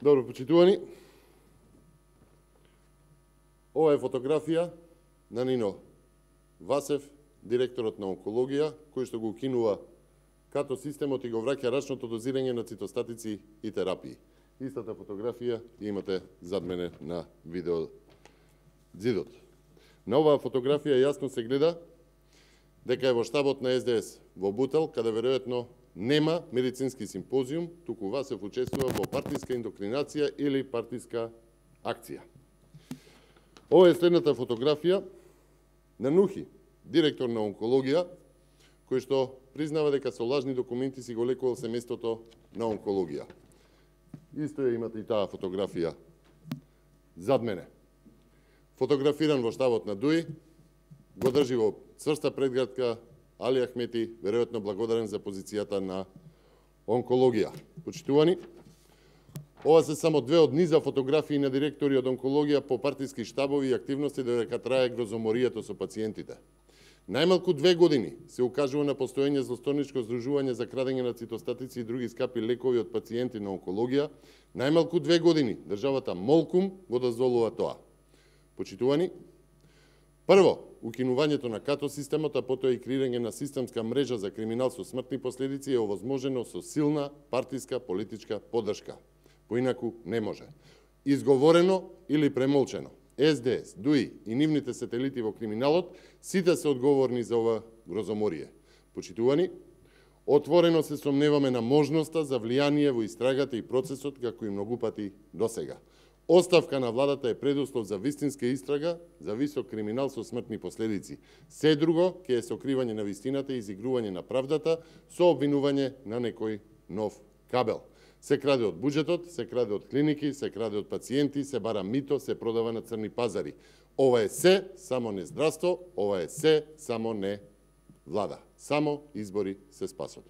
Добро, почитувани. Ова е фотографија на Нино Васев, директорот на онкологија, кој што го укинува като системот и го враќа рачното дозирање на цитостатици и терапии. Истата фотографија ја имате зад мене на видео зидот. На оваа фотографија јасно се гледа дека е во штабот на СДС во Бутел, каде веројатно нема медицински симпозиум, туку Васев учествува во партиска индоктринација или партиска акција. Ова е следната фотографија на Нухи, директор на онкологија, кој што признава дека со лажни документи си го лекувал семејството на онкологија. Исто ја имате и таа фотографија зад мене. Фотографиран во штабот на ДУИ, го држи во цврста предградка Али Ахмети, веројатно благодарен за позицијата на онкологија. Почитувани, ова се само две од низа фотографии на директори од онкологија по партиски штабови и активности додека трае грозоморијата со пациентите. Најмалку 2 години се укажува на постоење злосторничко здружување за крадење на цитостатици и други скапи лекови од пациенти на онкологија. Најмалку 2 години државата молкум го дозволува тоа. Почитувани, прво, укинувањето на като системот, а потоа и креирање на системска мрежа за криминал со смртни последици е овозможено со силна партиска политичка поддршка. Поинаку не може. Изговорено или премолчено. СДС, ДУИ и нивните сателити во криминалот, сите се одговорни за ова грозоморие. Почитувани, отворено се сомневаме на можноста за влијание во истрагата и процесот, како и многу пати досега. Оставка на владата е предуслов за вистинска истрага, за висок криминал со смртни последици. Се друго ќе е сокривање на вистината и изигрување на правдата со обвинување на некој нов кабел. Се краде од буџетот, се краде од клиники, се краде од пациенти, се бара мито, се продава на црни пазари. Ова е се, само не здравство, ова е се, само не влада. Само избори се спасот.